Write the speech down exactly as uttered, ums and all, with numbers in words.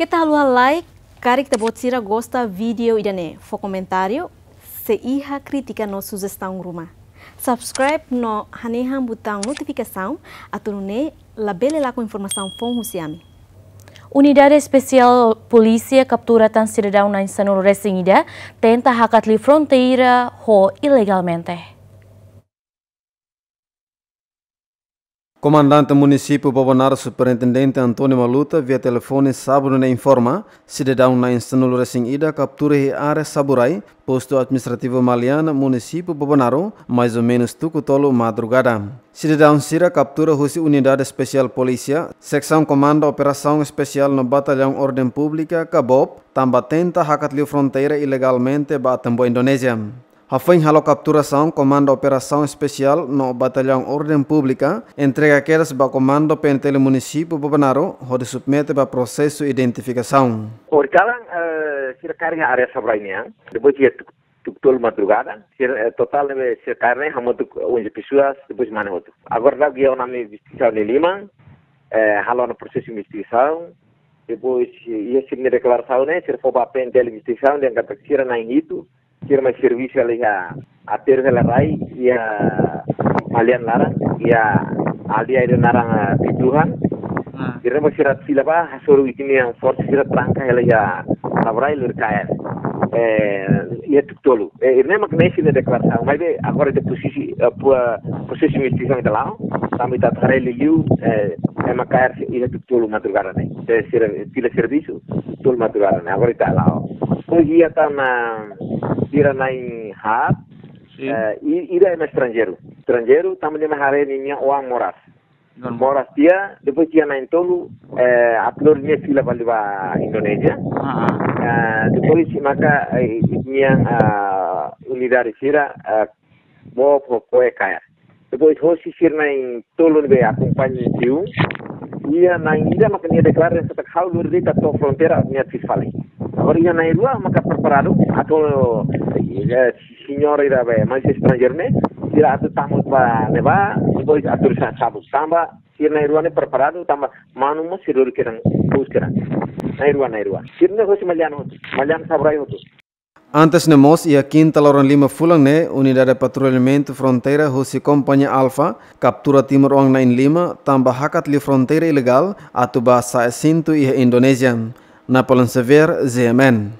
Keta haluha like, karik ita-boot sira gosta vídeo ida-ne'e, fó komentáriu, sei iha krítika no sujestaun ruma. Subscribe no hanehan butaun notifikasaun, atu nune'e labele lakon informasaun foun husi ami. Unidade Espesiál Polísia kaptura tan sidadaun na'in sanulu-resin-ida, tenta hakat liu fronteira ho ilegalmente. Komandante Munisípiu Bobonaro Superintendente António Maluta, via telefone sábadu ne'e informa, sidadaun na'in sanulu-resin-ida kaptura iha área Saburai, Postu Administrativu Maliana, Munisípiu Bobonaro, mais ou menus tuku tolu madrugada. Sidadaun sira kaptura husi Unidade Espesiál Polísia, Seksaun Komandu Operasaun Espesiál no Batallaun Orden Públika, Kabob, tanba tenta hakat liu fronteira ilegalmente ba Atambua, Indonézia. Hafoin halo kapturasaun, Komandu Operasaun Espesiál no Batallaun Orden Públika entrega kedas ba Komandu P N T L Munisípiu Bobonaro, hodi submete ba prosesu identifikasaun. Horikalan, eh, sira kaer iha área Saburai nian, depois iha tuku, tuku tolu madrugada, sira, eh, totál ne'ebé sira kaer ne'e hamutuk onze pessoas, depois mane hotu. Agora daudaun iha ona ami investigasaun ne'e liman, eh, halo ona prosesu investigasaun, depois, eh, iha sira-nia deklarasaun ne'e, sira fó ba P N T L investigasaun, dehan katak sira na'in hitu, sira mai servisu hela iha aterru hela rai iha Maliana laran, iha aldeia ida naran, ah, Pituhan. Ah. Sira mai sira fila ba, hasoru ita-nia forsa sira tranka hela iha Saburai lori kaer. Eh, iha tuku tolu. Eh, ida-ne'e mak ne'e sira-nia deklarasaun. Maibé agora ita prosesu, eh, pro-, prosesu investigasaun ita la'o. Tanba ita haree liuliu, eh, ema kaer iha tuku tolu madrugada ne'e. Se sira fila servisu, tuku tolu madrugada ne'e. Agora ita la'o. Depois iha tan, ah, sira na'in haat, Sin. Eh, i-, ida ema estranjeiru. Estranjeiru, tanba nia mai haree ninia oan moras. Non. Moras tiha, depois iha na'in tolu, eh, atu lori nia fila fali ba Indonézia. Ah, ah. Eh, depois maka, eh, ninia, ah, unidade sira, eh, bá fó ko'alia kaer. Depois hosi sira na'in tolu ne'ebé akompaña tiha, iha na'in ida maka nia deklara katak ha'u lori de'it to'o fronteira nia fis fali. Agora iha na'in rua maka preparadu atu, eh, señór ida be, mais estranjeiru ne'e, sira atu tama ba ne'ebá, depois atu sa sabu tanba, sira na'in rua ne'e preparadu tanba manu mós sira lori kedan, bus kedan. Na'in rua, na'in rua. Sira ne'e hosi Maliana hotu, Maliana Saburai hotu. Antes ne'e mós, iha kinta loron lima fulan ne'e, Unidade Patrullamentu Fronteira husi Kompañia Alfa kaptura timoroan na'in lima, tanba hakat liu fronteira ilegál, atu bá sa'e sintu iha Indonézia. Napoleon Xavier, G M N.